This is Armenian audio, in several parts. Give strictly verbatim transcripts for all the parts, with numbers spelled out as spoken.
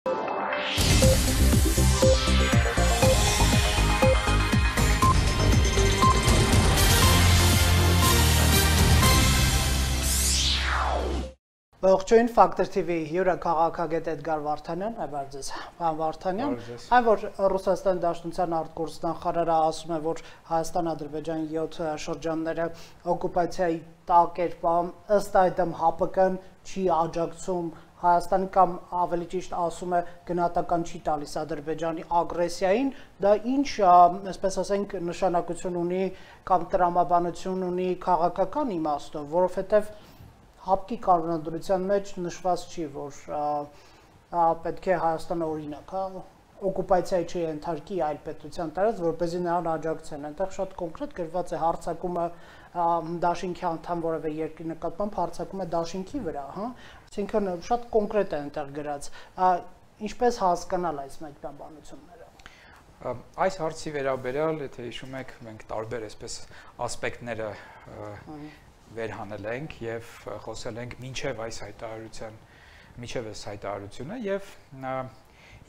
Ողջույն Factor T V հյուրը քաղաքագետ Էդգար Վարդանյան, այբար ձեզ, պարոն Վարդանյան, այն որ Ռուսաստանի Դաշնության արտգործնախարարը ասում է, որ Հայաստան-Ադրբեջան յոթ շրջանները օկուպացիայի տակ էր պահում, ըստ այդմ ՀԱՊԿ-ն չի աջակցում Հայաստանի կամ ավելի ճիշտ ասում է գնահատական չի տալիս Ադրբեջանի ագրեսիային, դա ինչ, այսպես ասենք, նշանակություն ունի կամ տրամաբանություն ունի քաղաքական իմաստով, որովհետև ՀԱՊԿ-ի կանոնադրության մեջ նշված չի, որ պետք է Հայաստանը օրինակ, օկուպացիայի չենթարկի այլ պետության տարածք, որպեսզի նրան աջակցեն։ Այնտեղ շատ կոնկրետ գրված է հարձակումը դաշինքի անդամ որևէ երկրի նկատմամբ հարձակում է դաշինքի վրա, հա, այսինքն շատ կոնկրետ է այնտեղ գրած։ Ինչպես հասկանալ այս մեկնաբանությունները։ Այս հարցի վերաբերյալ, եթե հիշում եք, մենք տարբեր այսպես ասպեկտները վերհանել ենք եւ խոսել ենք մինչեւ այս հայտարարության, մինչեւ այս հայտարարությունը եւ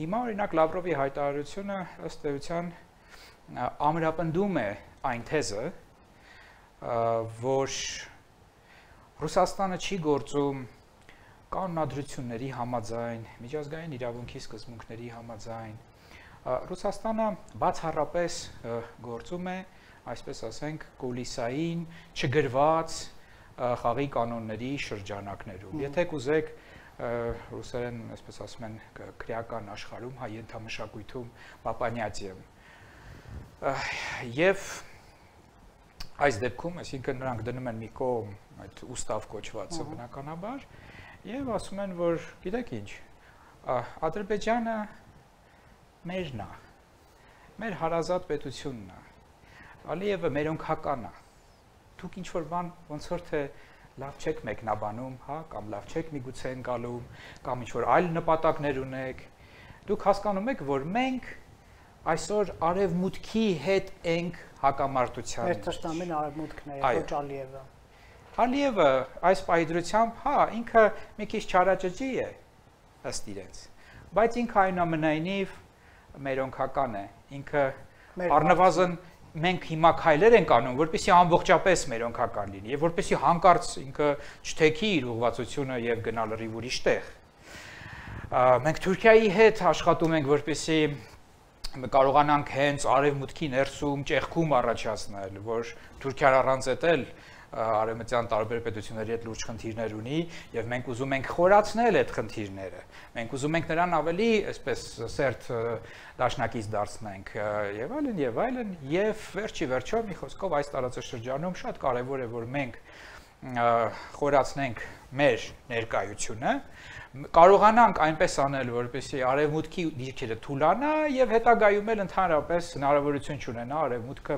հիմա օրինակ Լավրովի հայտարարությունը ըստ էության ամրապնդում է այն թեզը, որ Ռուսաստանը չի գործում կանոնադրությունների համաձայն, միջազգային իրավունքի սկզբունքների համաձայն, Ռուսաստանը բացառապես գործում է, այսպես ասենք, կուլիսային, չգրված խաղի կանոնների շրջանակներում։ Եթե կուզեք ռուսերեն, այսպես ասում են, քրեական աշխարհում, հայ ենթամշակույթում պապանյացիեմ։ Եվ այս դեպքում, այսինքն նրանք դնում են մի կողմ այդ ուստավ կոչվածը բնականաբար եւ ասում են, որ գիտեք ինչ, Ադրբեջանը մերն է, մեր հարազատ պետությունն է, Ալիևը մերոնքական է, դուք ինչ-որ բան ոնց որ թե լավ չեք մեկնաբանում, հա, կամ լավ չեք միգուցե ընկալում, կամ ինչ-որ այլ նպատակներ ունեք, դուք հասկանում եք, որ մենք այսօր արևմուտքի հետ ենք հակամարտության մեջ։ Մեր թշնամին արևմուտքն է, ոչ Ալիևը։ Ալիևը այս պայծրությամբ, հա, ինքը մի քիչ չարաճճի է, ըստ իրենց, բայց ինքը այնուամենայնիվ մերոնքական է, ինքը առնվազն մենք հիմա քայլեր ենք անում, որպեսզի ամբողջապես մերոնքական լինի եւ որպեսզի հանկարծ ինքը չթեքի իր ուղղվածությունը եւ գնա լրիվ ուրիշ տեղ։ Մենք Թուրքիայի հետ աշխատում ենք, որպեսզի կարողանանք հենց արևմուտքի ներսում ճեղքում առաջացնել, որ Թուրքիան առանց էտել արևմտյան տարբեր պետությունների հետ լուրջ խնդիրներ ունի եւ մենք ուզում ենք խորացնել այդ խնդիրները։ Մենք ուզում ենք նրան ավելի, այսպես, սերտ դաշնակից դարձնենք եւ այլն եւ այլն եւ վերջի վերջո մի խոսքով այս տարածաշրջանում շատ կարեւոր է, որ մենք խորացնենք մեր ներկայությունը, կարողանանք այնպես անել, որպեսզի արևմուտքի դիրքերը թուլանա եւ հետագայում էլ ընդհանրապես հնարավորություն չունենա արևմուտքը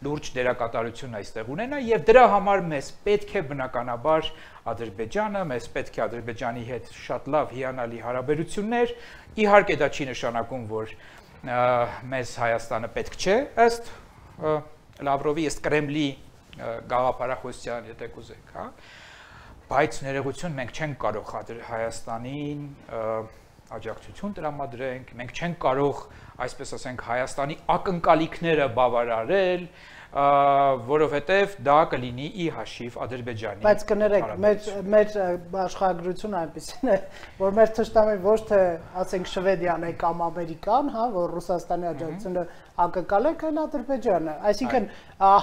լուրջ դերակատարություն այստեղ ունենա եւ դրա համար մեզ պետք է բնականաբար Ադրբեջանը, մեզ պետք է Ադրբեջանի հետ շատ լավ հիանալի հարաբերություններ, իհարկե դա չի նշանակում, որ մեզ Հայաստանը պետք չէ, ըստ Լավրովի, ըստ Կրեմլի գաղափարախոսության, եթե կուզեք, հա, բայց ներողություն մենք չենք կարող Հայաստանին աջակցություն տրամադրենք, մենք չենք կարող, այսպես ասենք, Հայաստանի ակնկալիքները բավարարել, որովհետև դա կլինի ի հաշիվ Ադրբեջանի։ Բայց կներեք, մեր աշխարհագրությունը այնպեսին է, որ մեր թշնամին ոչ թե, ասենք, Շվեդիան է կամ Ամերիկան, հա, որ Ռուսաստանի աջակցությունը ակնկալեք, այլ Ադրբեջանը։ Այսինքն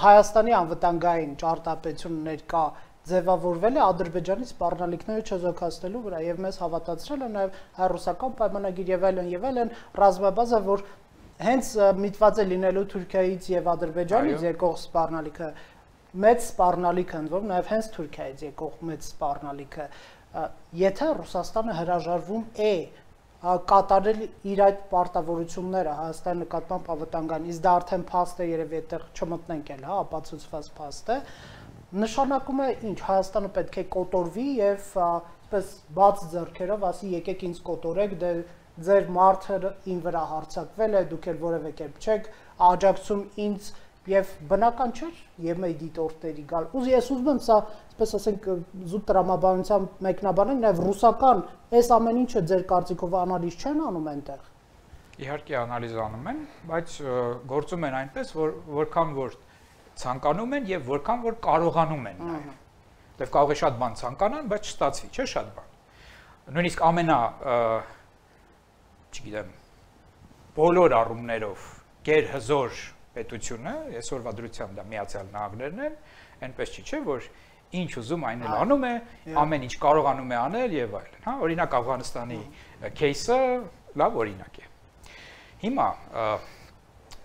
Հայաստանի անվտանգային ճարտարապետությունը ներկա ձևավորվել է Ադրբեջանի սպառնալիքները չեզոքացնելու վրա եւ մեզ հավատացրել է նաեւ հայ-ռուսական պայմանագիր եւ այլն եւ այլն ռազմաբազա, որ հենց միտված է լինելու Թուրքիայից եւ Ադրբեջանից եկող սպառնալիքը, մեծ սպառնալիքը ընդ որում նաեւ հենց Թուրքիայից եկող մեծ սպառնալիքը, եթե Ռուսաստանը հրաժարվում է կատարել իր այդ պարտավորությունները Հայաստանի նկատմամբ անվտանգային, իսկ դա արդեն փաստ է, երևի այդտեղ չմտնենք էլ, հա, ապացուցված փաստ է, նշանակում է ինչ, Հայաստանը պետք է կոտորվի եւ այսպես բաց ձեռքերով ասի եկեք ինձ կոտորեք, դե ձեր մարդը ին վրա հարձակվել է, դուք էլ որևէ կերպ չեք աջակցում ինձ Եվ բնական չէր ԵՄ դիտորդների գալ։ Ուզ ես ուզում եմ սա, այսպես ասենք, զուտ տրամաբանության մեկնաբանենք, նաև ռուսական այս ամեն ինչը ձեր կարծիքով անալիզ չեն անում այնտեղ։ Իհարկե անալիզ անում են, բայց գործում են այնպես, որ որքան որ ցանկանում են եւ որքան որ կարողանում են նաև։ Դեռ կարող է շատ բան ցանկանան, բայց չստացվի, չէ՞ շատ բան։ Նույնիսկ ամենա, չգիտեմ, բոլոր առումներով գերհզոր պետությունը, այսօրվա դրությամբ դա Միացյալ Նահանգներն են, այնպես չի, չէ, որ ինչ ուզում այն էլ անում է, ամեն ինչ կարողանում է անել եւ այլն, հա, օրինակ Աֆղանստանի кейսը լավ օրինակ է։ Հիմա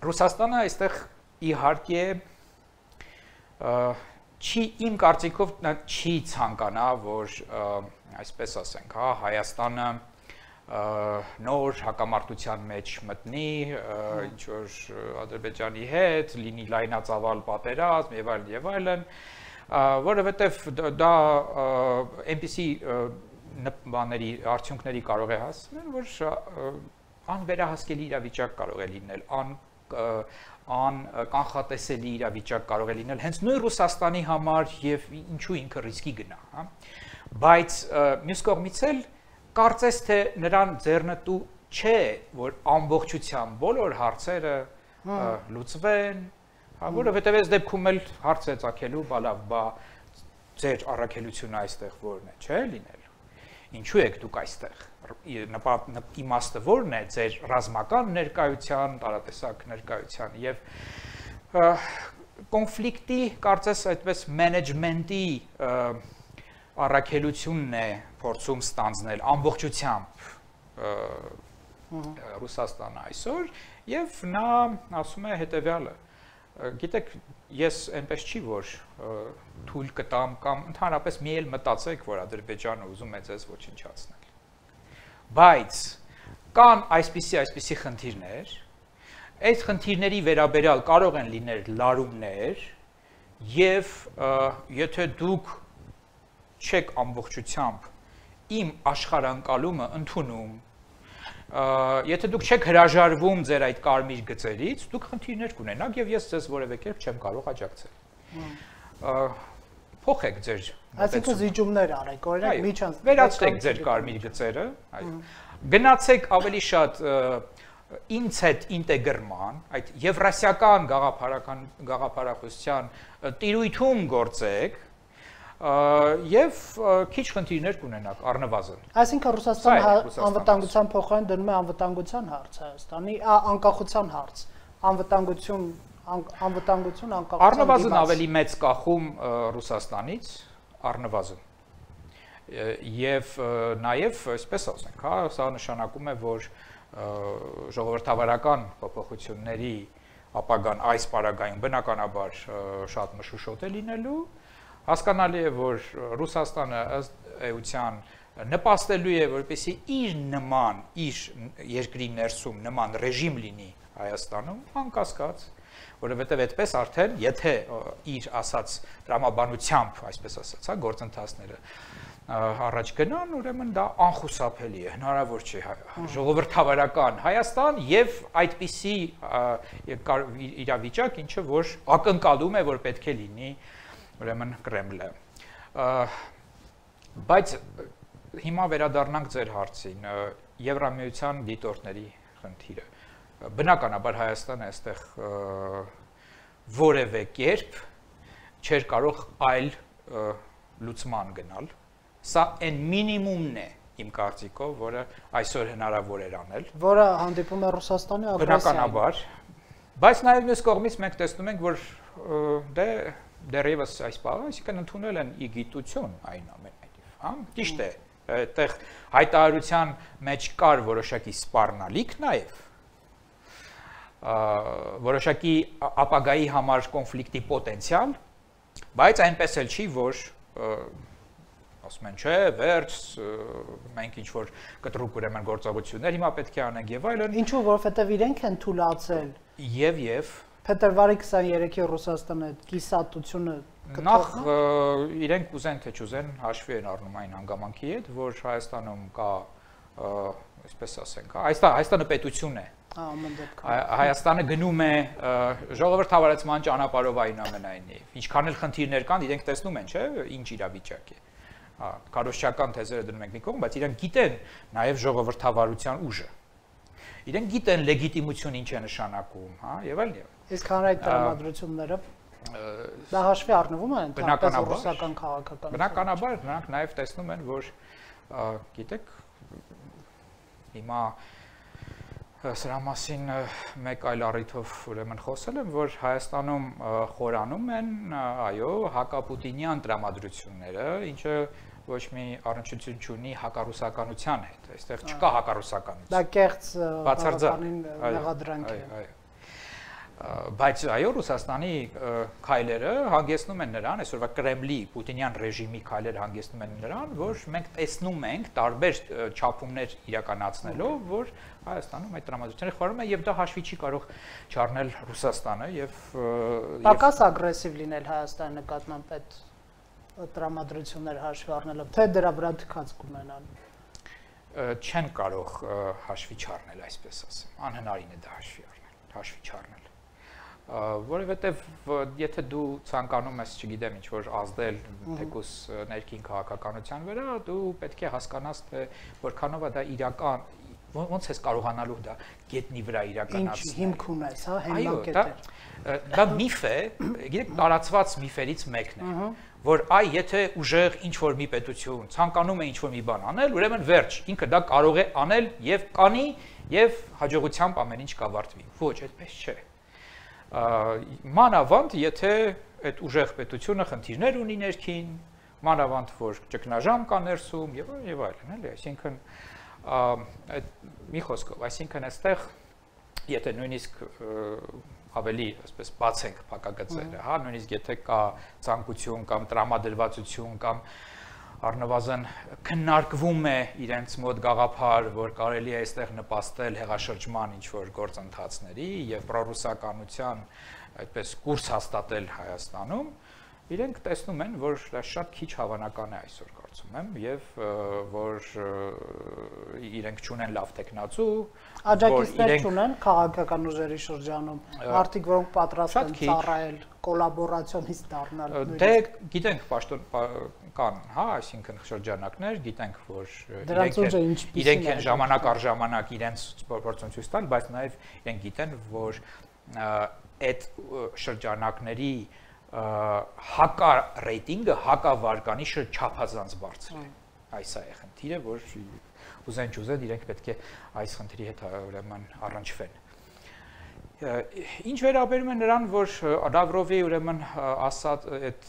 Ռուսաստանը այստեղ իհարկե չի իմ կարծիքով նա չի ցանկանա, որ այսպես ասենք, հա, Հայաստանը նոր հակամարտության մեջ մտնի, ինչ որ Ադրբեջանի հետ, լինի լայնածավալ պատերազմ եւ այլն եւ այլն, որովհետեւ դա այնպիսի բաների արդյունքների կարող է հասնել, որ անվերահասկելի իրավիճակ կարող է լինել, ան ան կանխատեսելի իրավիճակ կարող է լինել հենց նույն Ռուսաստանի համար եւ ինչու ինքը ռիսկի գնա, հա։ Բայց մյուս կողմից էլ կարծես թե նրան ձեռնտու չէ, որ ամբողջությամբ բոլոր հարցերը լուծվեն, որովհետև այս դեպքում էլ հարց է ծագելու, բա լավ, բա ձեր առաքելությունը այստեղ որն է, չէ՞ լինելու։ Ինչու եք դուք այստեղ։ Իմաստը որն է ձեր ռազմական ներկայության, տարատեսակ ներկայության եւ կոնֆլիկտի, կարծես այդպես մենեջմենտի առաքելությունն է փորձում ստանձնել ամբողջությամբ Ռուսաստանը այսօր եւ նա ասում է հետեւյալը գիտեք ես այնպես չի որ թույլ կտամ կամ ընդհանրապես մի էլ մտածեք որ Ադրբեջանը ուզում է ձեզ ոչնչացնել բայց կան այսպիսի այսպիսի խնդիրներ այդ խնդիրների վերաբերյալ կարող են լինել լարումներ եւ եթե դուք չեք ամբողջությամբ իմ աշխարհանկալումը ընդունում եթե դուք չեք հրաժարվում ձեր այդ կարմիր գծերից դուք խնդիրներ կունենաք եւ ես ձեզ որևէ կերպ չեմ կարող աջակցել փոխեք ձեր այսինքն զիջումներ արեք օրինակ միջան վերացրեք ձեր կարմիր գծերը գնացեք ավելի շատ ինձ հետ ինտեգրման այդ եվրասիական գաղափարական գաղափարախոսության տիրույթում գործեք եւ քիչ խնդիրներ կունենաք առնվազն։ Այսինքն Ռուսաստանը անվտանգության փոխարեն դնում է անվտանգության հարց Հայաստանի, անկախության հարց, անվտանգություն, անվտանգություն, անկախություն։ Առնվազն ավելի մեծ կախում Ռուսաստանից, առնվազն։ Եվ նաեւ այսպես ասենք, հա, սա նշանակում է, որ ժողովրդավարական փոփոխությունների ապագան այս պարագայում բնականաբար շատ մշուշոտ է լինելու Հասկանալի է, որ Ռուսաստանը ըստ էության նպաստելու է, որպեսզի իր նման, իր երկրի ներսում նման ռեժիմ լինի Հայաստանում, անկասկած, որովհետև այդպես արդեն, եթե իր ասած տրամաբանությամբ, այսպես ասած, հա, գործընթացները առաջ գնան, ուրեմն դա անխուսափելի է, հնարավոր չէ ժողովրդավարական Հայաստան եւ այդպիսի իրավիճակ, ինչը որ ակնկալում է, որ պետք է լինի ուրեմն Կրեմլը։ Բայց հիմա վերադառնանք ձեր հարցին, Եվրամիության դիտորդների խնդիրը։ Բնականաբար Հայաստանը այստեղ որևէ կերպ չէր կարող այլ լուծման գնալ։ Սա այն մինիմումն է իմ կարծիքով, որը այսօր հնարավոր էր անել։ Որը հանդիպում է Ռուսաստանի ագրեսիային։ Բնականաբար։ Բայց նաև մյուս կողմից մենք տեսնում ենք, որ դե դեռևս այս բանը, այսինքն ընդունել են ի գիտություն այն ամենայնիվ, հա, ճիշտ է, այդտեղ հայտարարության մեջ կար որոշակի սպառնալիք նաև, որոշակի ապագայի համար կոնֆլիկտի պոտենցիալ, բայց այնպես էլ չի, որ ասում են, չէ, վերջ, մենք ինչ-որ կտրուկ ուրեմն գործողություններ հիմա պետք է անենք եւ այլն։ Ինչու, որովհետեւ իրենք են թույլատրել։ Եվ եւ Փետրվարի քսաներեքի Ռուսաստանը կիսատությունը նախ իրենք ուզեն թե չուզեն հաշվի են առնում այն հանգամանքի հետ, որ Հայաստանում կա, այսպես ասենք, Հայաստանը պետություն է։ Հայաստանը գնում է ժողովրդավարացման ճանապարհով այնուամենայնիվ։ Ինչքան էլ խնդիրներ կան, իրենք տեսնում են, չէ՞, ինչ իրավիճակ է։ Քարոզչական թեզերը դնում ենք մի կողմ, բայց իրենք գիտեն նաև ժողովրդավարության ուժը։ Իրենք գիտեն լեգիտիմություն ինչ է նշանակում, հա, եւ այլն եւ։ Իսկ հանրային տրամադրությունները դա հաշվի առնվում են ընդհանրապես ռուսական քաղաքականություն։ Բնականաբար նրանք նաև տեսնում են, որ գիտեք, հիմա սրա մասին մեկ այլ առիթով ուրեմն խոսել եմ, որ Հայաստանում խորանում են, այո, հակապուտինյան տրամադրությունները, ինչը ոչ մի առնչություն չունի հակառուսականության հետ, այստեղ չկա հակառուսականություն։ Դա կեղծ բացարձակ մեղադրանք է։ Այո, բայց այո, Ռուսաստանի քայլերը հանգեցնում են նրան, այսօրվա Կրեմլի պուտինյան ռեժիմի քայլերը հանգեցնում են նրան, որ մենք տեսնում ենք տարբեր չափումներ իրականացնելով, որ Հայաստանում այդ տրամադրությունները խորում են եւ դա հաշվի չի կարող չառնել Ռուսաստանը եւ պակաս ագրեսիվ լինել Հայաստանի նկատմամբ այդ տրամադրություններ հաշվի առնելով, թե դրա վրա թքած կունենան։ Չեն կարող հաշվի չառնել, այսպես ասեմ, անհնարին է դա հաշվի առնել, հաշվի չառնել։ Որովհետև եթե դու ցանկանում ես, չգիտեմ, ինչ որ ազդել թեկուս ներքին քաղաքականության վրա, դու պետք է հասկանաս, թե որքանով է դա իրական, ոնց ես կարողանալու դա գետնի վրա իրականացնել։ Ինչ հիմք ունես, հա, հիմնակետեր։ Դա միֆ է, գիտեք, տարածված միֆերից մեկն է, որ այ եթե ուժեղ ինչ որ մի պետություն ցանկանում է ինչ որ մի բան անել, ուրեմն վերջ, ինքը դա կարող է անել եւ կանի եւ հաջողությամբ ամեն ինչ կավարտվի։ Ոչ, այդպես չէ։ Մանավանդ, եթե այդ ուժեղ պետությունը խնդիրներ ունի ներքին, մանավանդ, որ ճգնաժամ կա ներսում եւ եւ այլն, էլի, այսինքն այդ մի խոսքով, այսինքն այստեղ եթե նույնիսկ ավելի, այսպես բացենք փակագծերը, հա, նույնիսկ եթե կա ցանկություն կամ տրամադրվածություն կամ առնվազն քննարկվում է իրենց մոտ գաղափար, որ կարելի է այստեղ նպաստել հեղաշրջման ինչ-որ գործընթացների եւ պրոռուսականության այդպես կուրս հաստատել Հայաստանում, իրենք տեսնում են, որ դա շատ քիչ հավանական է այսօր կարծում եմ եւ որ իրենք չունեն լավ տեխնացու, աջակիցներ չունեն քաղաքական ուժերի շրջանում, մարդիկ, որոնք պատրաստ են ծառայել, կոլաբորացիոնիստ դառնալ։ Դե գիտենք պաշտոն կան, հա, այսինքն շրջանակներ, գիտենք, որ իրենք են ժամանակ առ ժամանակ իրենց փորձում ցույց տալ, բայց նաև իրենք գիտեն, որ այդ շրջանակների հակա ռեյտինգը, հակա վարկանիշը չափազանց բարձր է։ Այս է խնդիրը, որ ուզեն չուզեն իրենք պետք է այս խնդրի հետ ուրեմն առնչվեն։ Ինչ վերաբերում է նրան, որ Լավրովի ուրեմն ասած այդ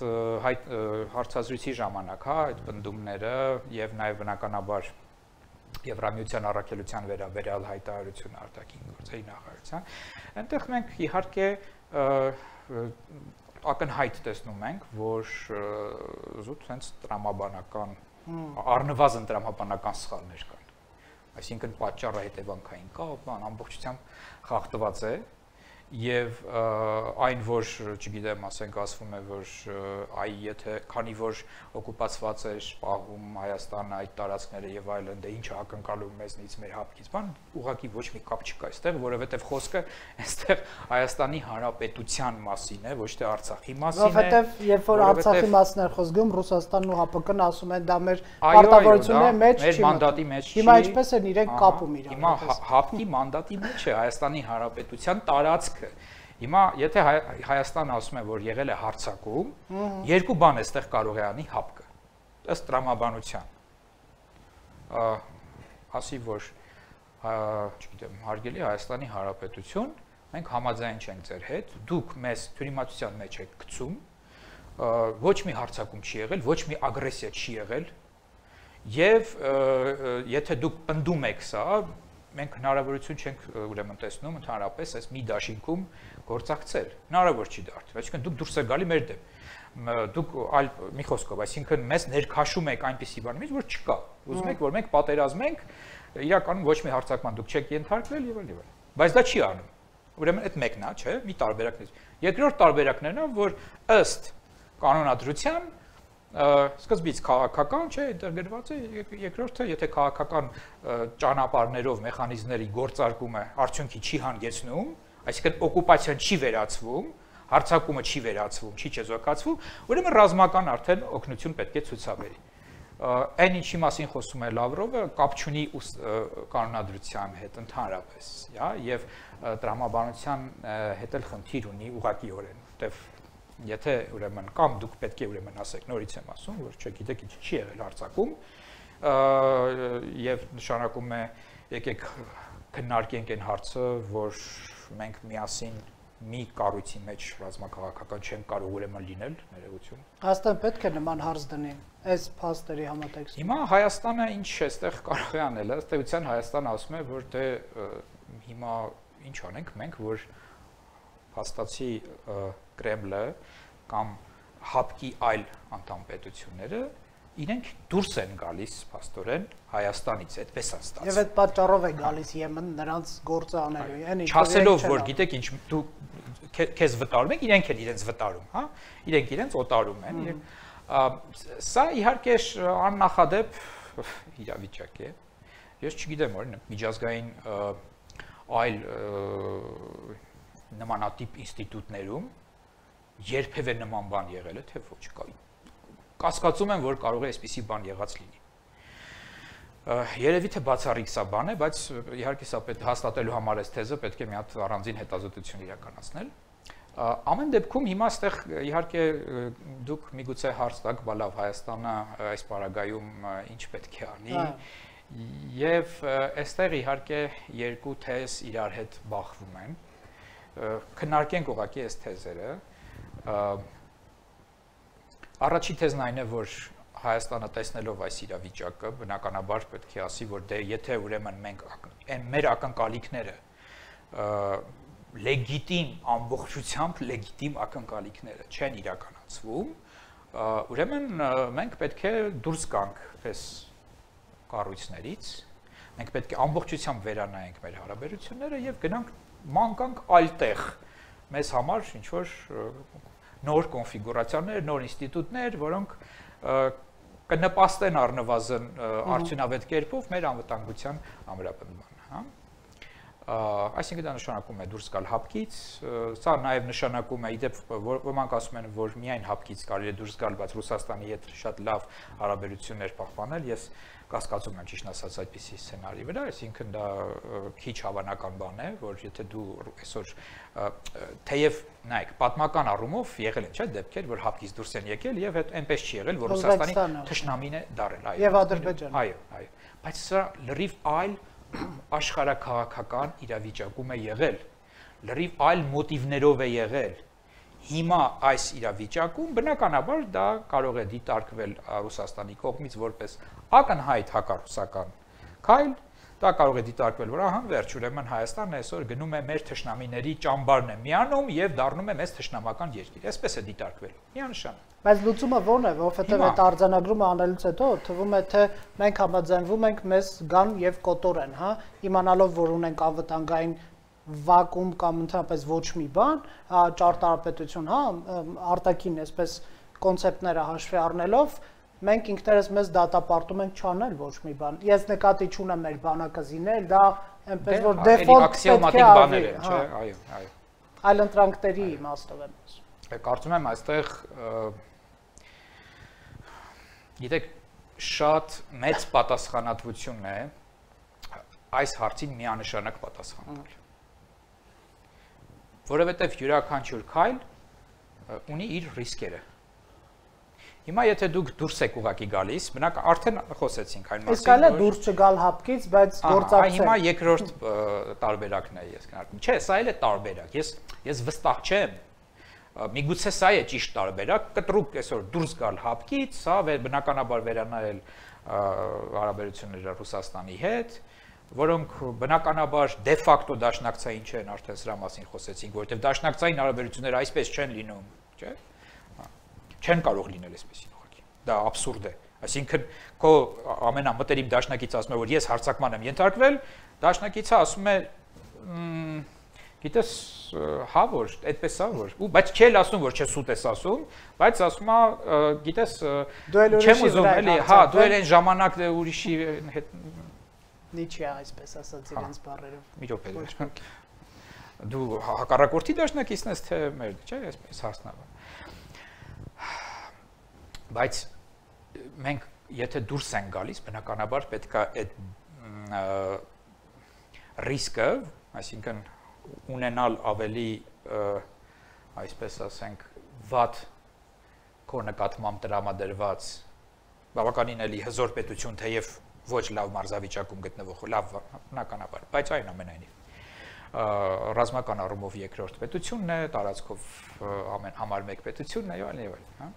հարցազրույցի ժամանակ, հա, այդ պնդումները եւ նաեւ բնականաբար Եվրամիության առաքելության վերաբերյալ հայտարարությունը արտաքին գործերի նախարարության, այնտեղ մենք իհարկե ակնհայտ տեսնում ենք, որ զուտ հենց տրամաբանական առնվազն տրամաբանական սխալներ կան։ Այսինքն պատճառը հետևանքային կա, բան ամբողջությամբ խախտված է եւ այն որ չգիտեմ, ասենք ասվում է, որ այ եթե քանի որ օկուպացված է շփաղում Հայաստանը այդ տարածքները եւ այլն, դե ինչ ակնկալում մեզնից մեր հապկից, բան ուղղակի ոչ մի կապ չկա այստեղ, որովհետեւ խոսքը այստեղ Հայաստանի Հանրապետության մասին է, ոչ թե Արցախի մասին է։ Որովհետեւ երբ որ Արցախի մասն է խոսքում, Ռուսաստանն ու ՀԱՊԿ-ն ասում են դա մեր պարտավորությունների մեջ չի, մեր մանդատի մեջ չի։ Հիմա ինչպես են իրենք կապում իրար։ Հիմա ՀԱՊԿ-ի մանդատի մեջ է Հայաստանի Հանրապետության տարածքը։ Հիմա եթե Հայաստանը ասում է, որ եղել է հարձակում, երկու բան էստեղ կարող է անի ՀԱՊԿ-ը, ըստ տրամաբանության։ Ասի, որ չգիտեմ, հարգելի Հայաստանի Հանրապետություն, մենք համաձայն չենք ձեր հետ, դուք մեզ թյուրիմացության մեջ եք գցում, ոչ մի հարձակում չի եղել, ոչ մի ագրեսիա չի եղել, եւ եթե դուք պնդում եք սա, մենք հնարավորություն չենք ուրեմն տեսնում ընդհանրապես այս մի դաշինքում գործակցել։ Հնարավոր չի դարձել, այսինքն դուք դուրս եք գալի մեր դեմ։ Դուք այլ մի խոսքով, այսինքն մեզ ներքաշում եք այնպիսի բանի մեջ, որ չկա։ Ուզում եք, որ մենք պատերազմենք, իրականում ոչ մի հարձակման դուք չեք ենթարկվել եւ այլն։ Բայց դա չի անում։ Ուրեմն այդ մեկն է, չէ՞, մի տարբերակն է։ Երկրորդ տարբերակն է նա, որ ըստ կանոնադրության սկզբից քաղաքական չէ, ինտեգրված է, երկրորդը, եթե քաղաքական ճանապարհներով մեխանիզմների գործարկումը արդյունքի չի հանգեցնում, այսինքն օկուպացիան չի վերացվում, հարձակումը չի վերացվում, չի չեզոքացվում, ուրեմն ռազմական արդեն օգնություն պետք է ցուցաբերի։ Այն ինչի մասին խոսում է Լավրովը, կապ չունի կանոնադրության հետ ընդհանրապես, եւ տրամաբանության հետ էլ խնդիր ունի ուղղակիորեն, որտեվ եթե ուրեմն կամ դուք պետք է ուրեմն ասեք, նորից եմ ասում, որ չգիտեք ինչ չի եղել հարձակում, եւ նշանակում է եկեք քննարկենք այն հարցը, որ մենք միասին մի կառույցի մեջ ռազմաքաղաքական չեն կարող ուրեմն լինել, ներողություն։ Հաստատ պետք է նման հարց դնեն այս փաստերի համատեքստում։ Հիմա Հայաստանը ինչ է այստեղ կարող է անել, ըստ էության Հայաստանը ասում է, որ դե հիմա ինչ անենք մենք, որ փաստացի Կրեմլը կամ հապկի այլ անդամ պետությունները իրենք դուրս են գալիս փաստորեն Հայաստանից, այդպես է ստացվում։ Եվ այդ պատճառով է գալիս Եմեն նրանց գործը անելու, yəni չասելով որ գիտեք ինչ դու քեզ վտարում եք, իրենք են իրենց վտարում, հա, իրենք իրենց օտարում են։ Սա իհարկե աննախադեպ իրավիճակ է։ Ես չգիտեմ, օրինակ միջազգային այլ նմանատիպ ինստիտուտներում երբևէ նման բան եղել է, թե ոչ կա։ Կասկածում եմ, որ կարող է այսպիսի բան եղած լինի։ Երևի թե բացառիկ սա բան է, բայց իհարկե սա պետք հաստատելու համար այս թեզը պետք է մի հատ առանձին հետազոտություն իրականացնել։ Ամեն դեպքում հիմա այստեղ իհարկե դուք միգուցե հարց տաք, բա լավ Հայաստանը այս պարագայում ինչ պետք է անի, եւ այստեղ իհարկե երկու թեզ իրար հետ բախվում են։ Քննարկենք ուղղակի այս թեզերը։ Առաջին թեզն այն է, որ Հայաստանը տեսնելով այս իրավիճակը, բնականաբար պետք է ասի, որ դե եթե ուրեմն մենք մեր ակնկալիքները լեգիտիմ ամբողջությամբ լեգիտիմ ակնկալիքները չեն իրականացվում, ուրեմն մենք պետք է դուրս գանք այս կառույցներից, մենք պետք է ամբողջությամբ վերանայենք մեր հարաբերությունները եւ գնանք մանկանք այլ տեղ մեզ համար ինչ որ նոր կոնֆիգուրացիաներ, նոր ինստիտուտներ, որոնք կնպաստեն առնվազն արդյունավետ կերպով մեր անվտանգության ամրապնդմանը, հա։ Այսինքն դա նշանակում է դուրս գալ հապկից, սա նաև նշանակում է, իդեպ ոմանք ասում են, որ միայն հապկից կարելի է դուրս գալ, բայց Ռուսաստանի հետ շատ լավ հարաբերություններ պահպանել, ես կասկածում եմ ճիշտ ասած այդպիսի սցենարի վրա, այսինքն դա քիչ հավանական բան է, որ եթե դու այսօր թեև նայեք, պատմական առումով եղել են չէ դեպքեր, որ հապկից դուրս են եկել եւ այդ այնպես չի եղել, որ Ռուսաստանի թշնամին է դարել, այո։ Եվ Ադրբեջանը։ Այո, այո։ Բայց սա լրիվ այլ աշխարհաքաղաքական իրավիճակում է եղել, լրիվ այլ մոտիվներով է եղել։ Հիմա այս իրավիճակում բնականաբար դա կարող է դիտարկվել Ռուսաստանի կողմից որպես ակնհայտ հակառուսական քայլ, դա կարող է դիտարկվել, որ ահա վերջ ուրեմն Հայաստանն այսօր գնում է մեր թշնամիների ճամբարն է միանում եւ դառնում է մեծ թշնամական երկիր։ Այսպես է դիտարկվել։ Միանշանակ։ Բայց լուծումը ո՞րն է, որովհետեւ այդ արձանագրումը անելուց հետո թվում է թե մենք համաձայնվում ենք մեզ գան եւ կոտորեն, հա, իմանալով որ ունենք անվտանգային վակուում կամ ընդհանրապես ոչ մի բան, ճարտարապետություն, հա, արտաքին այսպես կոնցեպտները հաշվի առնելով մենք ինքներս մեզ դատապարտում ենք չանել ոչ մի բան։ Ես նկատի չունեմ մեր բանակը զինել, դա այնպես որ դեֆոլտ պետք է բաներ են, չէ, այո, այո։ Այլ ընտրանքների իմաստով եմ ասում։ Կարծում եմ այստեղ գիտեք շատ մեծ պատասխանատվություն է այս հարցին միանշանակ պատասխանել։ Որովհետև յուրաքանչյուր քայլ ունի իր ռիսկերը։ Հիմա եթե դուք դուրս եք ուղակի գալիս, բնակ արդեն խոսեցինք այն մասին, իսկ այլ է դուրս չգալ հապկից, բայց գործակցել։ Հիմա երկրորդ տարբերակն է ես քննարկում։ Չէ, սա էլ է տարբերակ։ Ես ես վստահ չեմ։ Միգուցե սա է ճիշտ տարբերակ, կտրուկ այսօր դուրս գալ հապկից, սա բնականաբար վերանայել հարաբերությունները Ռուսաստանի հետ, որոնք բնականաբար դե ֆակտո դաշնակցային չեն, արդեն սրա մասին խոսեցինք, որովհետև դաշնակցային հարաբերությունները այսպես չեն լինում, չէ՞։ Չեն կարող լինել այսպեսին ուղղակի։ Դա աբսուրդ է։ Այսինքն քո ամենամտերիմ դաշնակիցը ասում է, որ ես հարձակման եմ ենթարկվել, դաշնակիցը ասում է, Գիտես, հա որ, այդպես է որ, ու բայց չէ ասում որ չէ սուտ ես ասում, բայց ասում է, գիտես, չեմ ուզում էլի, հա, դու էլ այն ժամանակ ուրիշի հետ Նիչե այսպես ասած իրենց բառերով։ Մի րոպե։ Դու հակառակորդի դաշնակիցն ես թե մեր, չէ, այսպես հարցնալու։ Բայց մենք եթե դուրս ենք գալիս, բնականաբար պետք է այդ ռիսկը, այսինքն ունենալ ավելի այսպես ասենք վատ քո նկատմամբ տրամադրված բավականին էլի հզոր պետություն, թեև ոչ լավ մարզավիճակում գտնվող, լավ բնականաբար, բայց այնուամենայնիվ ռազմական առումով երկրորդ պետությունն է, տարածքով ամեն համար մեկ պետությունն է եւ այլն եւ այլն, հա։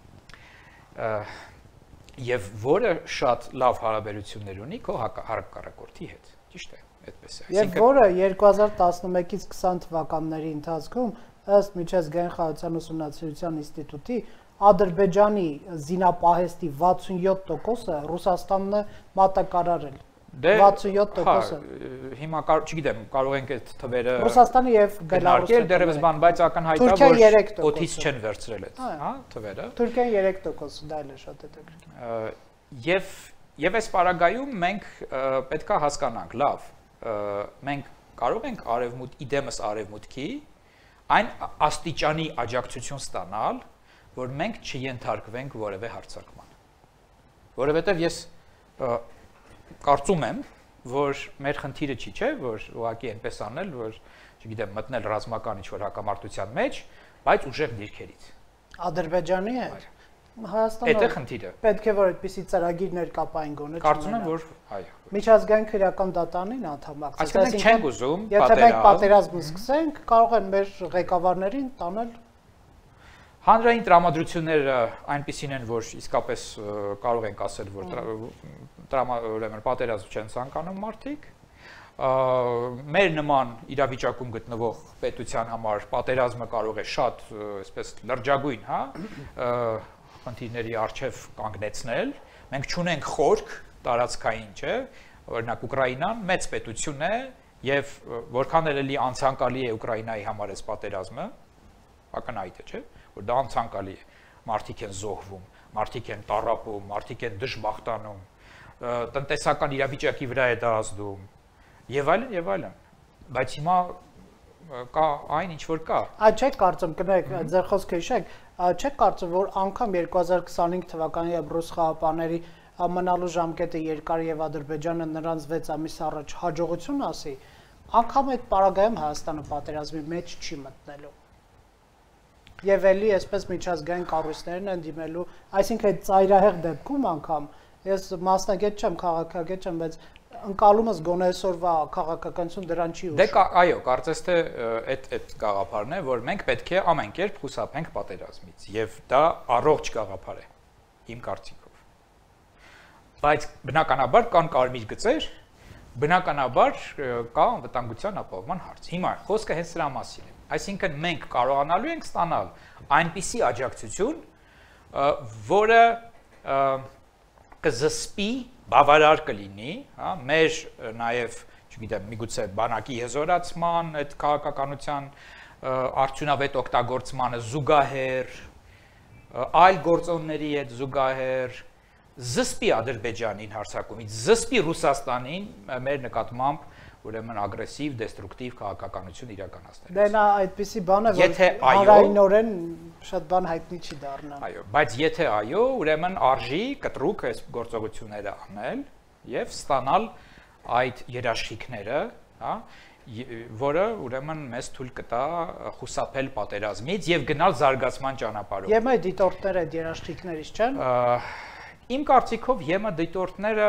Եվ որը շատ լավ հարաբերություններ ունի քո հակառակորդի հետ, ճիշտ է, այդպես է։ Եվ որը երկու հազար տասնմեկից քսան թվականների ընթացքում ըստ միջազգային խաղաղության ուսումնասիրության ինստիտուտի Ադրբեջանի զինապահեստի վաթսունյոթ տոկոսը Ռուսաստանն է մատակարարել։ վաթսունյոթ տոկոսը։ Հիմա չգիտեմ, կարող ենք այդ թվերը Ռուսաստանը եւ Բելարուսը դերևս բան, բայց ակնհայտ է որ օթից չեն վերցրել այդ, հա, թվերը։ Թուրքիան երեք տոկոս, դա էլ է շատ հետաքրքիր։ Եվ եւ այս պարագայում մենք պետքա հասկանանք, լավ, մենք կարող ենք արևմուտ իդեմս արևմուտքի այն աստիճանի աջակցություն ստանալ, որ մենք չենթարկվենք որևէ հարձակման։ Որովհետև ես կարծում եմ, որ մեր խնդիրը չի, չէ, որ ուղղակի այնպես անել, որ, չգիտեմ, մտնել ռազմական ինչ-որ հակամարտության մեջ, բայց ուժեղ դիրքերից։ Ադրբեջանի հետ։ Հայաստանը Այդ է խնդիրը։ Պետք է որ այդպիսի ծրագիրներ կապային գոնե։ Կարծում եմ, որ այո։ Միջազգային քրեական դատարանին անդամակցել։ Այսինքն մենք չենք ուզում պատերազմ։ Եթե մենք պատերազմ սկսենք, կարող են մեր ղեկավարներին տանել Հանրային տրամադրությունները այնպիսին են, որ իսկապես կարող ենք ասել, որ ուրեմն պատերազմ չեն ցանկանում մարդիկ։ Մեր նման իրավիճակում գտնվող պետության համար պատերազմը կարող է շատ, այսպես լրջագույն, հա, խնդիրների առջև կանգնեցնել։ Մենք չունենք խորք տարածքային, չէ, օրինակ Ուկրաինան մեծ պետություն է եւ որքան էլ անցանկալի է Ուկրաինայի համար այս պատերազմը, ակնհայտ է, չէ, որ դա անցանկալի է, մարդիկ են զոհվում, մարդիկ են տառապում, մարդիկ են դժբախտանում, տնտեսական իրավիճակի վրա է դա ազդում եւ այլն եւ այլն, բայց հիմա կա այն ինչ որ կա։ Այդ չեք կարծում, կներեք, ձեր խոսքը հիշեք, չեք կարծում, որ անգամ երկու հազար քսանհինգ թվականի եւ ռուս խաղապաների մնալու ժամկետը երկար եւ Ադրբեջանը նրանց վեց ամիս առաջ հաջողություն ասի, անգամ այդ պարագայում Հայաստանը պատերազմի մեջ չի մտնելու։ Եվ էլի այսպես միջազգային կառույցներն են դիմելու, այսինքն այդ ծայրահեղ դեպքում անգամ ես մասնագետ չեմ, քաղաքագետ չեմ, բայց ընկալումս գոնե այսօրվա քաղաքականություն դրան չի ուշ։ Դե այո, կարծես թե այդ այդ գաղափարն է, որ մենք պետք է ամեն կերպ խուսափենք պատերազմից, եւ դա առողջ գաղափար է, իմ կարծիքով։ Բայց բնականաբար կան կարմիր գծեր, բնականաբար կա անվտանգության ապահովման հարց։ Հիմա խոսքը հենց սրա մասին է։ Այսինքն մենք կարողանալու ենք ստանալ այնպիսի աջակցություն, որը կզսպի, բավարար կլինի, հա, մեր նաև, չգիտեմ, միգուցե բանակի հզորացման, այդ քաղաքականության արդյունավետ օգտագործմանը զուգահեռ, այլ գործոնների հետ զուգահեռ, զսպի Ադրբեջանին հարձակումից, զսպի Ռուսաստանին մեր նկատմամբ ուրեմն ագրեսիվ, դեստրուկտիվ քաղաքականություն իրականացնել։ Դե նա այդպիսի բան է, որ հանրայինորեն շատ բան հայտնի չի դառնա։ Այո, բայց եթե այո, ուրեմն արժի կտրուկ այս գործողությունները անել եւ ստանալ այդ երաշխիքները, հա, որը ուրեմն մեզ թույլ կտա խուսափել պատերազմից եւ գնալ զարգացման ճանապարհով։ Ե՞մ է դիտորդները այդ երաշխիքներից չեն։ Իմ կարծիքով ե՞մ է դիտորդները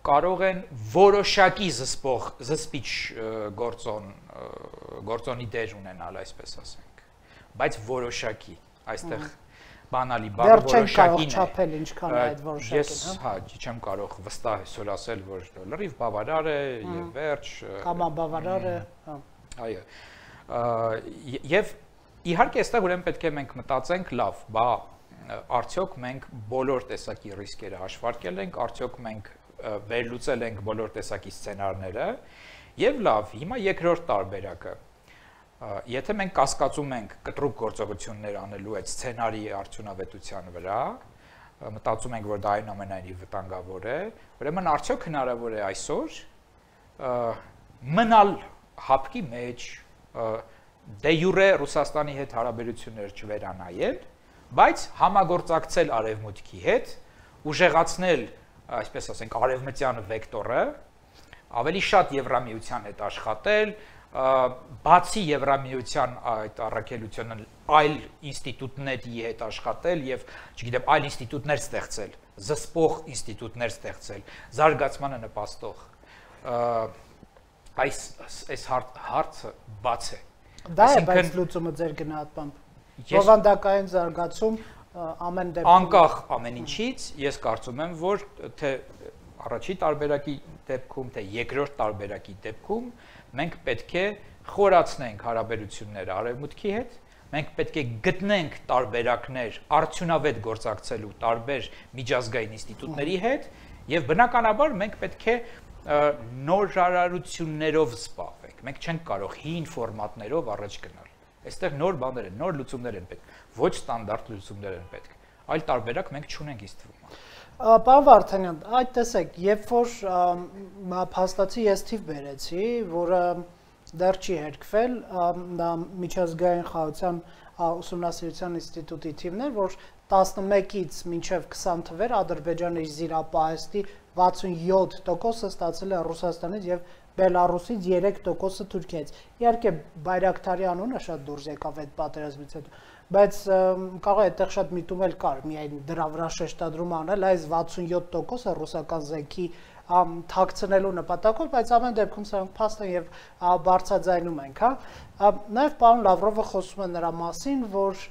կարող են որոշակի զսպող, զսպիչ գործոն, գործոնի դեր ունենալ, այսպես ասենք, բայց որոշակի, այստեղ բանալի բառը որոշակին է։ Ինչքան է այդ որոշակին, ես, հա, չեմ կարող վստահ այսօր ասել, որ լրիվ բավարար է եւ վերջ։ Կամ անբավարար է, հա։ Այո։ Եվ իհարկե այստեղ ուրեմն պետք է մենք մտածենք, լավ, բա արդյոք մենք բոլոր տեսակի ռիսկերը հաշվարկել ենք, արդյոք մենք վերլուծել ենք բոլոր տեսակի սցենարները եւ լավ, հիմա երկրորդ տարբերակը։ Եթե մենք կասկածում ենք կտրուկ գործողություններ անելու այդ սցենարի արդյունավետության վրա, մտածում ենք, որ դա այնուամենայնիվ վտանգավոր է, ուրեմն արդյոք հնարավոր է այսօր մնալ հապկի մեջ, դե յուրե Ռուսաստանի հետ հարաբերություններ չվերանայել, բայց համագործակցել Արևմուտքի հետ, ուժեղացնել, այսպես ասենք, արևմտյան վեկտորը, ավելի շատ Եվրամիության հետ աշխատել, բացի Եվրամիության այդ առաքելությունը այլ ինստիտուտների հետ աշխատել եւ, չգիտեմ, այլ ինստիտուտներ ստեղծել, զսպող ինստիտուտներ ստեղծել, զարգացմանը նպաստող։ Այս այս հարցը բաց է։ Դա է բայց լուծումը ձեր գնահատմամբ։ Բովանդակային զարգացում ամեն դեպքում անկախ ամեն ինչից, ես կարծում եմ, որ թե առաջի տարբերակի դեպքում, թե երկրորդ տարբերակի դեպքում մենք պետք է խորացնենք հարաբերությունները Արևմուտքի հետ, մենք պետք է գտնենք տարբերակներ արդյունավետ գործակցելու տարբեր միջազգային ինստիտուտների հետ եւ բնականաբար մենք պետք է նորարարություններով զբաղվենք։ Մենք չենք կարող հին ֆորմատներով առաջ գնալ։ Այստեղ նոր բաներ են, նոր լուծումներ են պետք, ոչ ստանդարտ լուծումներ են պետք։ Այլ տարբերակ մենք չունենք ինձ թվում։ Պարոն Վարդանյան, այդ տեսեք, երբ որ փաստացի ես թիվ բերեցի, որը դեռ չի հերկվել, դա միջազգային խաղաղության ուսումնասիրության ինստիտուտի թիվն էր, որ տասնմեկից մինչև քսան թվեր Ադրբեջանի զիրապահեստի վաթսունյոթ տոկոսը ստացել է Ռուսաստանից եւ Բելարուսից երեք տոկոսը Թուրքիայից։ Իհարկե Բայրակթարի անունը շատ դուրս եկավ այդ պատերազմից հետո, բայց կարող է այդտեղ շատ միտում էլ կար, միայն դրա վրա շեշտադրում անել, այս վաթսունյոթ տոկոսը ռուսական զենքի թաքցնելու նպատակով, բայց ամեն դեպքում սրանք փաստ են եւ բարձրաձայնում ենք, հա։ Նաեւ պարոն Լավրովը խոսում է նրա մասին, որ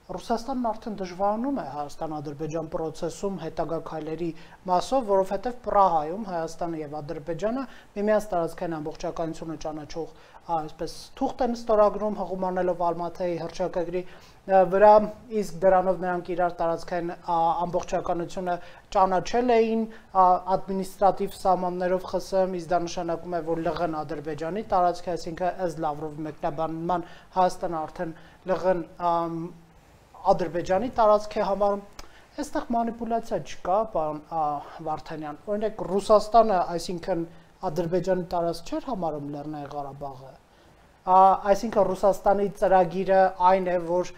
Ռուսաստանն արդեն դժվարանում է Հայաստան-Ադրբեջան process-ում հետագա քայլերի մասով, որովհետև Պրահայում Հայաստանը եւ Ադրբեջանը միմյանց տարածքային ամբողջականությունը ճանաչող այսպես թուղթ են ստորագրում հղումանելով Ալմաթայի հռչակագրի վրա, իսկ դրանով նրանք իրար տարածքային ամբողջականությունը ճանաչել էին ադմինիստրատիվ սահմաններով ԽՍՀՄ, իսկ դա նշանակում է, որ ԼՂ-ն Ադրբեջանի տարածք է, այսինքն ըստ Լավրովի մեկնաբանման Հայաստանը արդեն ԼՂ-ն Ադրբեջանի տարածք է համարում, այստեղ մանիպուլյացիա չկա, պարոն Վարդանյան, օրինակ Ռուսաստանը, այսինքն Ադրբեջանի տարածք չէր համարում Լեռնային Ղարաբաղը, այսինքն Ռուսաստանի ծրագիրը այն է, որ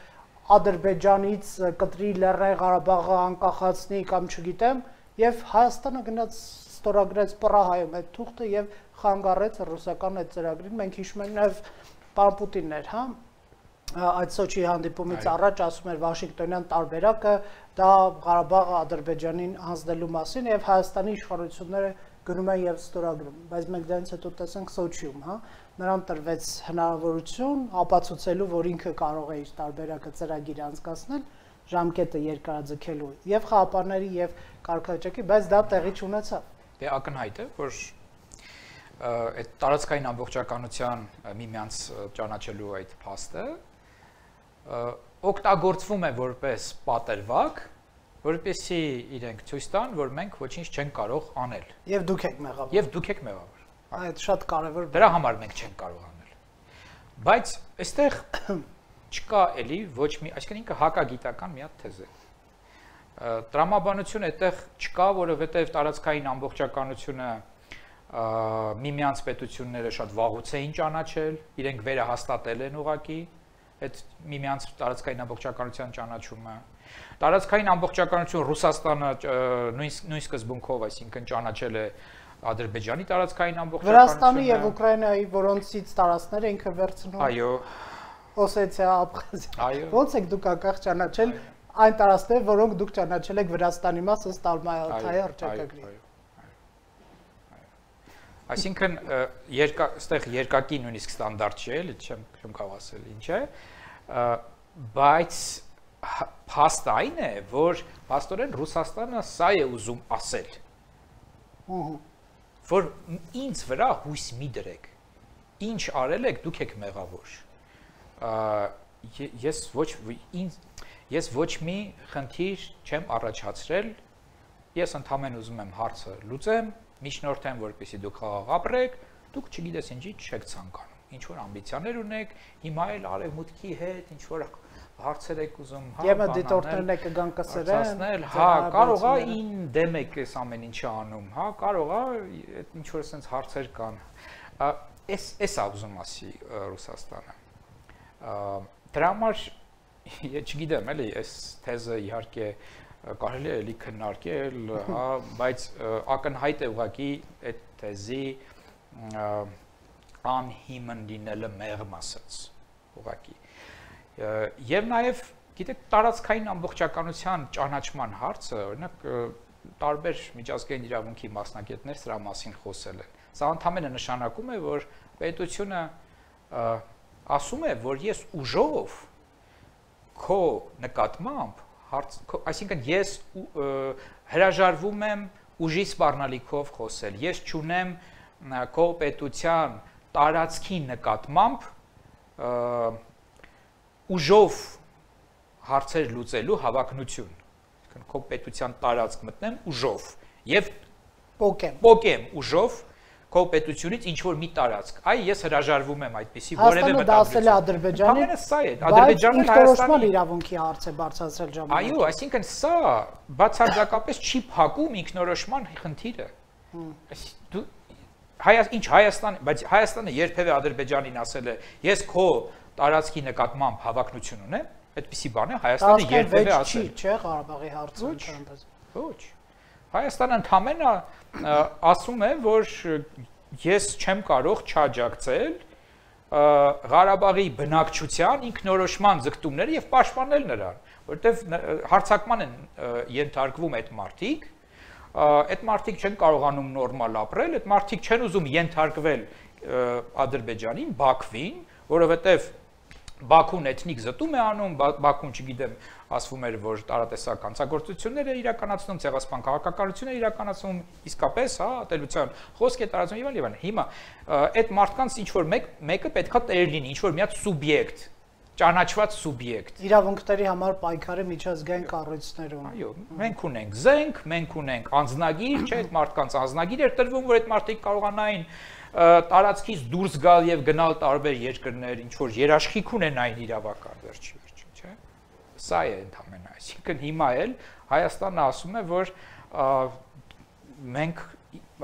Ադրբեջանից կտրի Լեռնային Ղարաբաղը անկախացնի կամ չգիտեմ, եւ Հայաստանը գնաց ստորագրեց Պրահայում այդ թուղթը եւ խանգարեց ռուսական այդ ծրագրին, մենք հիշում ենք նաեւ պարոն Պուտինն էր, հա, այդ Սոչիի հանդիպումից առաջ ասում էր Վաշինգտոնյան տարբերակը դա Ղարաբաղը Ադրբեջանին հանձնելու մասին եւ Հայաստանի իշխանությունները գնում են եւ ստորագրում, բայց մենք դրանից հետո տեսանք Սոչիում, հա, նրան տրվեց հնարավորություն ապացուցելու, որ ինքը կարող է իր տարբերակը ծրագիր անցկացնել, ժամկետը երկարաձգելու եւ խաղապարների եւ կարգավիճակի, բայց դա տեղի չունեցավ։ Դե ակնհայտ է, որ այդ տարածքային ամբողջականության միմյանց ճանաչելու այդ փաստը օգտագործվում է որպես պատերվակ, որպեսզի իրենք ցույց տան, որ մենք ոչինչ չենք կարող անել։ Եվ դուք եք մեղավոր։ Եվ դուք եք մեղավոր։ Այդ շատ կարևոր։ Դրա համար մենք չենք կարող անել։ Բայց այստեղ չկա էլի ոչ մի, այսինքն ինքը հակագիտական մի հատ թեզ է։ Տրամաբանություն այդտեղ չկա, որովհետև տարածքային ամբողջականությունը միմյանց պետությունները շատ վաղուց էին ճանաչել, իրենք վերահաստատել են ուղղակի այդ միմյանց տարածքային ամբողջականության ճանաչումը։ Տարածքային ամբողջականություն Ռուսաստանը նույն նույն սկզբունքով, այսինքն ճանաչել է Ադրբեջանի տարածքային ամբողջականությունը։ Վրաստանի եւ Ուկրաինայի, որոնցից տարածքները ինքը վերցնում։ Այո։ Օսեթիա, Աբխազիա։ Այո։ Ոնց եք դուք անկախ ճանաչել այն տարածքները, որոնք դուք ճանաչել եք Վրաստանի մաս ըստ Ալմաթայի հռչակագրի։ Այսինքն երկա այստեղ երկակի նույնիսկ ստանդարտ չէ, էլի չեմ չեմ կարող ասել ինչ է, բայց փաստ այն է, որ փաստորեն Ռուսաստանը սա է ուզում ասել։ Ահա։ Որ ինձ վրա հույս մի դրեք։ Ինչ արել եք, դուք եք մեղավոր։ Ես ոչ ինձ ես ոչ մի խնդիր չեմ առաջացրել։ Ես ընդհանրապես ուզում եմ հարցը լուծեմ, միջնորդեմ, որպեսզի դուք խաղաղ ապրեք, դուք չգիտես ինչի չեք ցանկանում։ ինչ որ ամբիցիաներ ունեք, հիմա էլ արևմուտքի հետ ինչ որ հարցեր եք ուզում, հա, եւ դիտորդներն եք կգան կսրեն, հա, կարող է ին դեմ եք այս ամեն ինչը անում, հա, կարող է այդ ինչ որ sense հարցեր կան։ Էս էս է ուզում ասի Ռուսաստանը։ Դրա համար ես չգիտեմ, էլի, այս թեզը իհարկե կարելի է էլի քննարկել, հա, բայց ակնհայտ է ուղղակի այդ թեզի անհիմն լինելը մեղմ ասած, ուղղակի։ Եվ նաև, գիտեք, տարածքային ամբողջականության ճանաչման հարցը, օրինակ, տարբեր միջազգային իրավունքի մասնագետներ սրա մասին խոսել են։ Սա ընդհանրապես նշանակում է, որ պետությունը ասում է, որ ես ուժով քո նկատմամբ, այսինքն ես հրաժարվում եմ ուժի սպառնալիքով խոսել, ես չունեմ քո պետության տարածքի նկատմամբ ուժով հարցեր լուծելու հավակնություն, այսինքն քո պետության տարածք մտնեմ ուժով եւ պոկեմ պոկեմ ուժով քո պետությունից ինչ որ մի տարածք։ Այ ես հրաժարվում եմ այդպեսի որևէ մտահոգություն։ Հայաստանը դա ասել է Ադրբեջանին։ Ամենը սա է, Ադրբեջանը Հայաստանի իրավունքի հարց է բարձրացրել ժամանակ։ Այո, այսինքն սա բացարձակապես չի փակում ինքնորոշման խնդիրը։ Դու ինչ Հայաստան, բայց Հայաստանը երբևէ Ադրբեջանին ասել է, ես քո տարածքի նկատմամբ հավակնություն ունեմ, այդպիսի բան է Հայաստանը երբևէ ասել։ Չի, չէ, Ղարաբաղի հարցը ընդհանրապես։ Ոչ։ Հայաստանը ընդհանրապես ասում է, որ ես չեմ կարող չաջակցել Ղարաբաղի բնակչության ինքնորոշման ձգտումները եւ պաշտպանել նրան, որովհետեւ հարձակման են ենթարկվում այդ մարդիկ, այդ մարդիկ չեն կարողանում նորմալ ապրել, այդ մարդիկ չեն ուզում ենթարկվել Ադրբեջանին, Բաքվին, որովհետեւ Բաքուն էթնիկ զտում է անում, Բաքուն, չգիտեմ, ասվում էր, որ տարատեսակ հանցագործություններ է իրականացնում, ցեղասպան քաղաքականություն է իրականացնում, իսկապես, հա, ատելության խոսք է տարածում եւ այլն։ Հիմա այդ մարդկանց ինչ որ մեկ մեկը պետքա տեր լինի, ինչ որ մի հատ սուբյեկտ, ճանաչված սուբյեկտ։ Իրավունքների համար պայքարի միջազգային կառույցներում։ Այո, մենք ունենք զենք, մենք ունենք անձնագիր, չէ՞, այդ մարդկանց անձնագիր էր տրվում, որ այդ մարդիկ կարողանային տարածքից դուրս գալ եւ գնալ տարբեր երկրներ, ինչ որ երաշխիք ունենային իրավական վերջի վերջին, չէ՞։ Սա է ընդհանրապես, այսինքն հիմա էլ Հայաստանը ասում է, որ մենք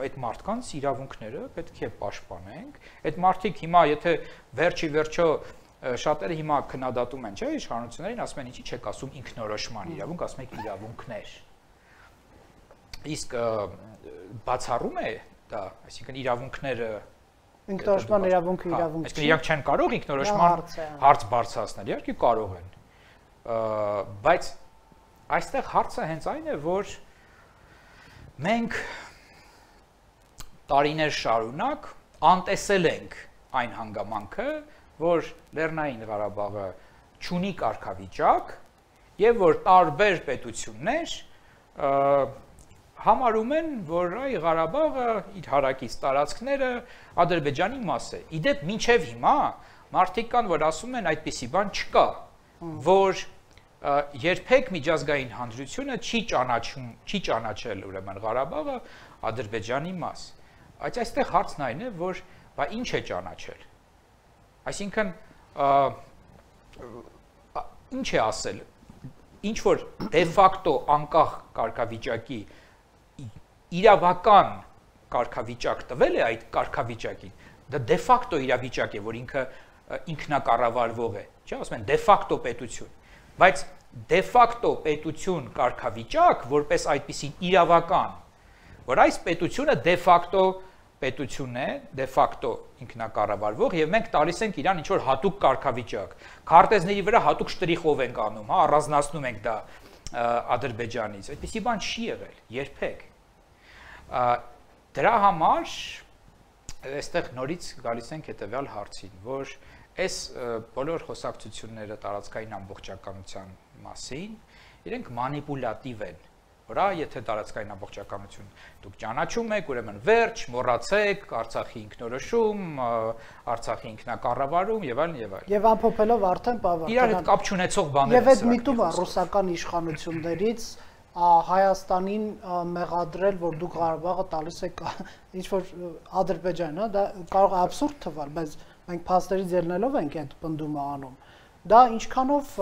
այդ մարդկանց իրավունքները պետք է պաշտպանենք։ Այդ մարդիկ հիմա, եթե վերջի վերջո շատերը հիմա քննադատում են, չէ՞, իշխանություններին, ասում են, ինչի՞ չեք ասում ինքնորոշման իրավունք, ասում եք իրավունքներ։ Իսկ բացառում է դա, այսինքն իրավունքները ինքնորոշման իրավունքը իրավունք չի։ Այսինքն իրանք չեն կարող ինքնորոշման հարց բարձրացնել, իհարկե կարող են։ Բայց այստեղ հարցը հենց այն է, որ մենք տարիներ շարունակ անտեսել ենք այն հանգամանքը, որ Լեռնային Ղարաբաղը չունի կարգավիճակ եւ որ տարբեր պետություններ համարում են, որ այ Ղարաբաղը իր հարակից տարածքները Ադրբեջանի մաս է։ Իդեպ մինչև հիմա մարդիկ կան, որ ասում են այդպիսի բան չկա, որ երբեք միջազգային հանրությունը չի ճանաչում, չի ճանաչել ուրեմն Ղարաբաղը Ադրբեջանի մաս։ Բայց այստեղ հարցն այն է, որ բա ինչ է ճանաչել։ Այսինքն ինչ է ասել, ինչ որ դե ֆակտո անկախ կարգավիճակի իրավական կարգավիճակ տվել է այդ կարգավիճակին, դա դե ֆակտո իրավիճակ է, որ ինքը ինքնակառավարվող է, չէ՞, ասում են դե ֆակտո պետություն, բայց դե ֆակտո պետություն կարգավիճակ, որպես այդպիսին իրավական, որ այս պետությունը դե ֆակտո պետություն է, դե ֆակտո ինքնակառավարվող եւ մենք տալիս ենք իրան ինչ որ հատուկ կարգավիճակ։ Քարտեզների վրա հատուկ շտրիխով ենք անում, հա, առանձնացնում ենք դա Ադրբեջանից։ Այդպիսի բան չի եղել երբեք։ Դրա համար այստեղ նորից գալիս ենք հետեւյալ հարցին, որ այս բոլոր խոսակցությունները տարածքային ամբողջականության մասին իրենք մանիպուլատիվ են, որ եթե տարածքային ամբողջականություն դուք ճանաչում եք, ուրեմն վերջ, մոռացեք, Արցախի ինքնորոշում, Արցախի ինքնակառավարում եւ այլն եւ այլն։ Եվ ամփոփելով արդեն բավական իրար հետ կապ չունեցող բաներ։ Եվ այդ միտումը ռուսական իշխանություններից Հայաստանին մեղադրել, որ դուք Ղարաբաղը տալիս եք ինչ որ Ադրբեջանն, հա, դա կարող է աբսուրդ թվալ, բայց մենք փաստերից ելնելով ենք այդ պնդումը անում։ Դա ինչքանով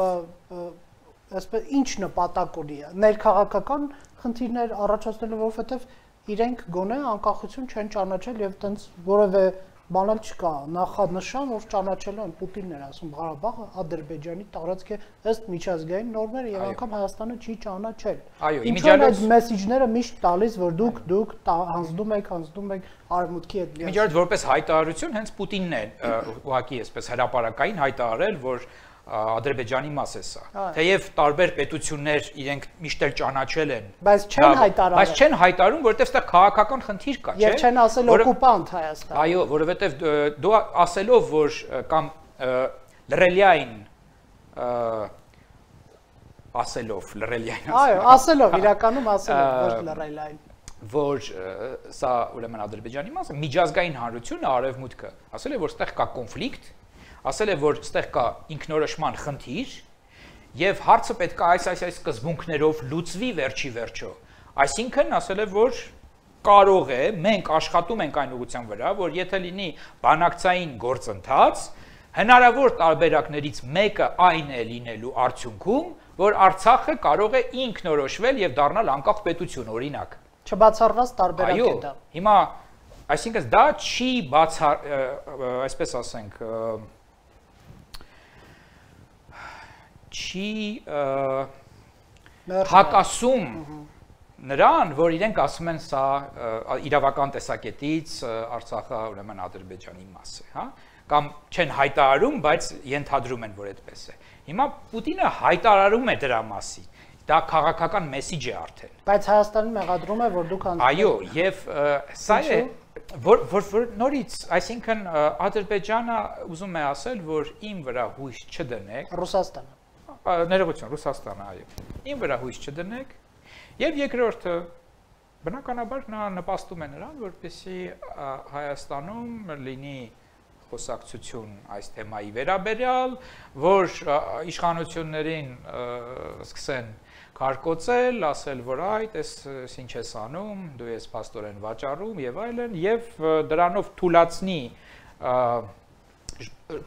այսպես ինչ նպատակ ունի, ներքաղաքական խնդիրներ առաջացնելու, որովհետև իրենք գոնե անկախություն չեն ճանաչել եւ տենց որևէ բան էլ չկա, նախանշան, որ ճանաչելու են Պուտինն էր ասում Ղարաբաղը Ադրբեջանի տարածք է ըստ միջազգային նորմերի եւ անգամ Հայաստանը չի ճանաչել։ Այո, իմիջիայլոց այդ մեսեջները միշտ տալիս, որ դուք դուք հանձնում եք, հանձնում եք արևմուտքի հետ։ Իմիջիայլոց որպես հայտարարություն հենց Պուտինն է ուղղակի այսպես հրապարակային հայտարարել, որ Ադրբեջանի մաս է սա։ Թեև տարբեր պետություններ իրենք միշտ էլ ճանաչել են, բայց չեն հայտարարել։ Բայց չեն հայտարարում, որովհետև դա քաղաքական խնդիր կա, չէ՞։ Եվ չեն ասել օկուպանտ Հայաստան։ Այո, որովհետև դու ասելով, որ կամ լրելիային ասելով, լրելիային ասելով։ Այո, ասելով, իրականում ասելով, ոչ լրելիային։ Որ սա ուրեմն Ադրբեջանի մասը, միջազգային հանրությունը, արևմուտքը, ասել է, որ ստեղ կա կոնֆլիկտ, ասել է, որ ստեղ կա ինքնորոշման խնդիր եւ հարցը պետք է այս այս այս սկզբունքներով լուծվի վերջի վերջո։ Այսինքն ասել է, որ կարող է, մենք աշխատում ենք այն ուղղության վրա, որ եթե լինի բանակցային գործընթաց, հնարավոր տարբերակներից մեկը այն է լինելու արդյունքում, որ Արցախը կարող է ինքնորոշվել եւ դառնալ անկախ պետություն, օրինակ։ Չբացառված տարբերակ է դա։ Հիմա, այսինքն դա չի բացառ, այսպես ասենք, չի հակասում նրան, որ իրենք ասում են սա իրավական տեսակետից Արցախը ուրեմն Ադրբեջանի մաս է, հա, կամ չեն հայտարարում, բայց ենթադրում են, որ այդպես է։ Հիմա Պուտինը հայտարարում է դրա մասին, դա քաղաքական մեսիջ է արդեն։ Բայց Հայաստանը մեղադրում է, որ դուք Այո, եւ սա է որ որ նորից, այսինքն Ադրբեջանը ուզում է ասել, որ իմ վրա հույս չդնեք, Ռուսաստանը ներողություն, Ռուսաստանը, այո։ Իմ վրա հույս չդնեք, եւ երկրորդը բնականաբար նա նպաստում է նրան, որպեսզի Հայաստանում լինի խոսակցություն այս թեմայի վերաբերյալ, որ իշխանություններին սկսեն կարկոծել, ասել, որ այդ էս ինչ ես անում, դու ես փաստորեն վաճառում եւ այլն, եւ դրանով թուլացնի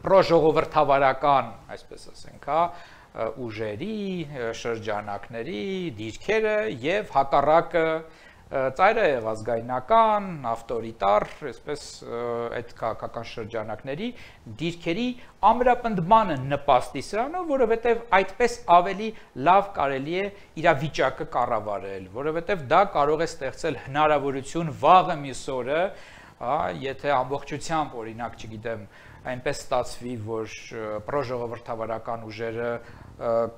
պրոժողովրդավարական, այսպես ասենք, հա, ուժերի, շրջանակների, դիրքերը եւ հակառակը ծայրը ազգայնական, ավտորիտար, այսպես այդ քաղաքական շրջանակների դիրքերի ամրապնդմանը նպաստի սրանով, որովհետև այդպես ավելի լավ կարելի է իրավիճակը կառավարել, որովհետև դա կարող է ստեղծել հնարավորություն վաղը մյուս օրը, եթե ամբողջությամբ, օրինակ, չգիտեմ, այնպես ստացվի, որ պրոժողովրդավարական ուժերը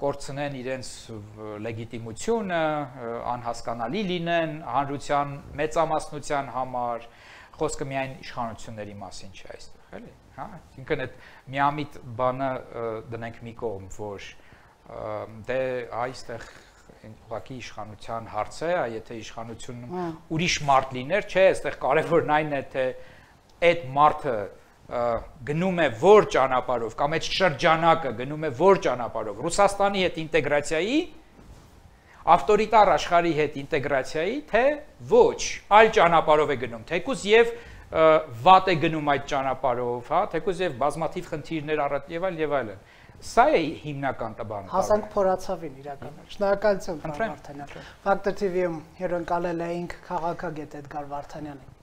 կորցնեն իրենց լեգիտիմությունը, անհասկանալի լինեն հանրության մեծամասնության համար, խոսքը միայն իշխանությունների մասին չէ այստեղ, էլի, հա, ինքն այդ միամիտ բանը դնենք մի կողմ, որ դե այստեղ ուղղակի իշխանության հարց է, եթե իշխանությունում ուրիշ մարդ լիներ, չէ, այստեղ կարևորն այն է, թե այդ մարդը գնում է որ ճանապարհով կամ այդ շրջանակը գնում է որ ճանապարհով Ռուսաստանի հետ ինտեգրացիայի, ավտորիտար աշխարհի հետ ինտեգրացիայի, թե ոչ, այլ ճանապարհով է գնում, թեկուզ եւ վատ է գնում այդ ճանապարհով, հա, թեկուզ եւ բազմաթիվ խնդիրներ առատ եւ այլ եւ այլն։ Սա է հիմնական տաբանը։ Հասանք փորացավին իրականում։ Շնորհակալություն, Վարդանյան։ Ֆակտոր թի վի-ում հյուրընկալել էինք քաղաքագետ Էդգար Վարդանյանին։